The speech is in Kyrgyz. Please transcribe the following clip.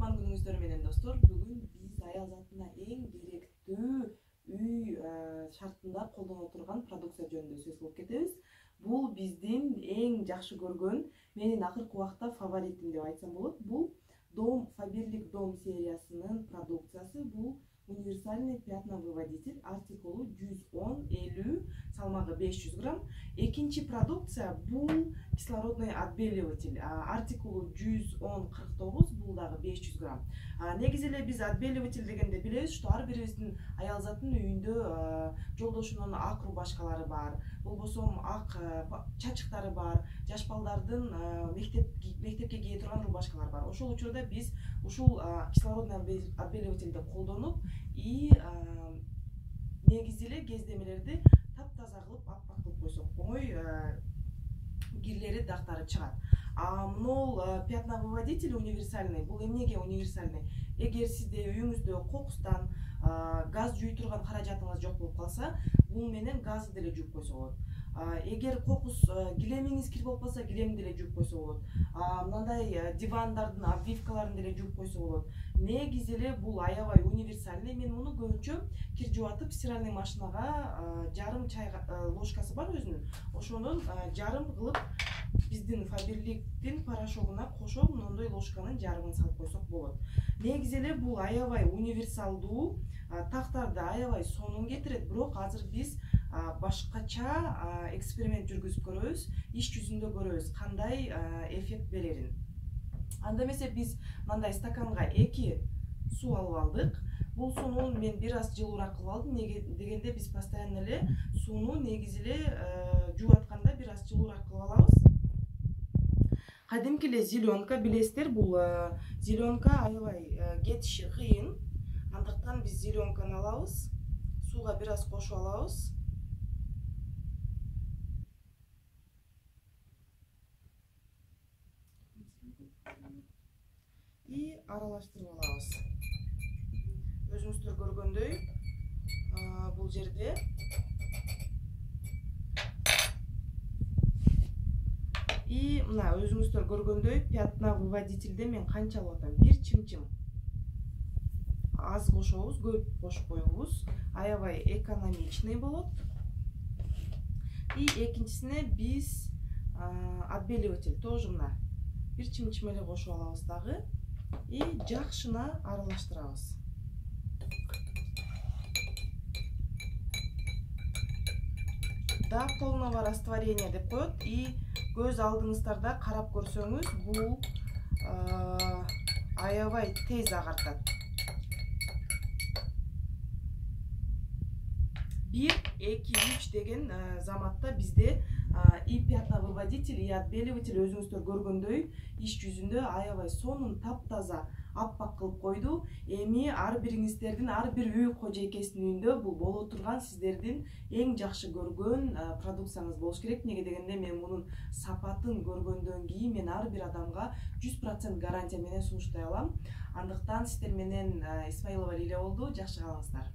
Тууган күнүңүздөр менен достор. Бүгүн биз аял затына эң керектүү үй шартында колдоно турган продукция жөнүндө сөз кылып кетебиз. Бул биздин эң жакшы көргөн, менин акыркы убакта фаворитим деп айтсам болот. Бул Дом Faberlic Дом сериясынын продукциясы. Бул универсальный пятновыводитель, артикулу 110-50, салмагы 500 грамм. Экинчи продукция бул кислородный отбеливатель, артикулу 110-49, бул дагы 500 грамм. Негизи эле биз отбеливатель дегенде билебиз, что ар бирибиздин аял заттын үйүндө жолдошунун ак рубашкалары бар, болбосо ак чачыктары бар, жаш балдардын мектепке кие турган рубашкалар бар. Ошол учурда биз ушул кислородный отбеливательди колдонуп и негизи эле кездемелерди таптаза кылып аппак кылып койсок, оңой кирлери, дактары чыгат. Могул пятновыводитель универсальный, бул эмнеге универсальный? Эгер сизде үйүңүздө кокустан газ жуй турган каражатыңыз жок болуп калса, бул менен газды деле жууп койсо болот. Эгер кокус килемиңиз кир болуп калса, килемди деле жууп койсо болот. Мындай дивандардын обвивкаларын деле жууп койсо болот. Негизи эле бул аябай универсальный. Мен муну көбүнчө кир жуатып стиральный машинага жарым чай ложкасы бар өзүнүн. Ошонун жарым кылып биздин Faberlic'тин порошогуна кошо мондой ложканын жарымын салып койсок болот. Негизи эле бул аябай универсалдуу, тактарды аябай сонун кетирет, бирок азыр биз башкача эксперимент жүргүзүп көрөбүз, иш жүзүндө көрөбүз кандай эффект берерин. Анда эмесе биз мындай стаканга 2 суу алып алдык. Бул сууну мен бир аз жылуураак кылып алдым, дегенде биз постоянно эле сууну негизи эле жууатканда бир аз жылуураак кылып алабыз. Кадимки эле зеленка билесиздер, бул зеленка аябай кетиши кыйын. Андыктан биз зеленканы алабыз, сууга бир аз кошуп алабыз. И аралаштырып алабыз. Өзүңүздөр көргөндөй, бул жерде и мына өзүңүздөр көргөндөй пятновыводительде мен канча алып атам? Бир чымчым. Аз кошобуз, көп кошуп коебуз. Аябай экономичный болот. И экинчисине биз отбеливатель тоже мына бир чымчым эле кошуп алабыз дагы и жакшына аралаштырабыз. До полного растворения деп коет. И көз алдыңыздарда карап көрсөңүз, бул аябай тез агартат. 1, 2, 3 деген заматта бизде и пятновыводитель, и отбеливатель өзүңүздөр көргөндөй иш жүзүндө аябай сонун, таптаза, аппак кылып койду. Эми ар бириңиздердин, ар бир үй кожойкесинин үйүндө бул боло турган сиздердин эң жакшы көргөн продукцияңыз болуш керек. Неге дегенде мен мунун сапатын көргөндөн кийин мен ар бир адамга 100% гарантия менен сунуштай алам. Андыктан сиздер менен Исмаилова Лилия болду. Жакшы калыңыздар.